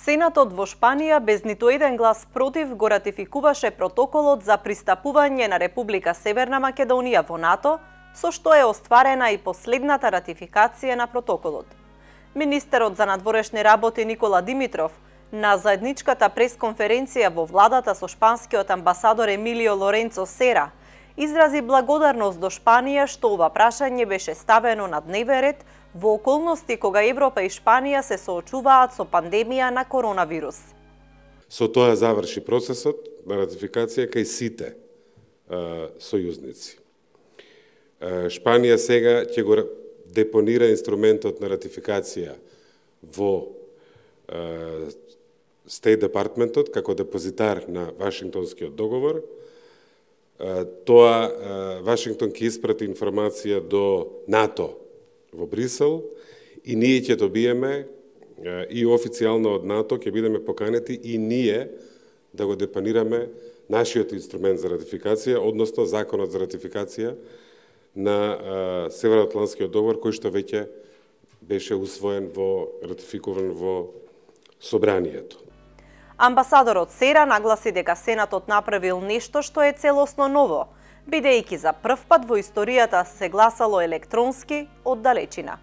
Сенатот во Шпанија без ниту еден глас против го ратификуваше протоколот за пристапување на Република Северна Македонија во НАТО, со што е остварена и последната ратификација на протоколот. Министерот за надворешни работи Никола Димитров на заедничката пресконференција во владата со шпанскиот амбасадор Емилио Лоренцо Сера изрази благодарност до Шпанија што ова прашање беше ставено на дневен ред во околности кога Европа и Шпанија се соочуваат со пандемија на коронавирус. Со тоа заврши процесот на ратификација кај сите сојузници. Шпанија сега ќе го депонира инструментот на ратификација во State Departmentот како депозитар на Вашингтонскиот договор. Тоа Вашингтон ќе испрати информација до НАТО во Брисел и ние ќе добиеме и официјално од НАТО ќе бидеме поканети и ние да го депонираме нашиот инструмент за ратификација, односно законот за ратификација на Северноатлантскиот договор кој што веќе беше усвоен ратификуван во собранието. Амбасадорот Сера нагласи дека Сенатот направил нешто што е целосно ново, бидејќи за прв пат во историјата се гласало електронски од далечина.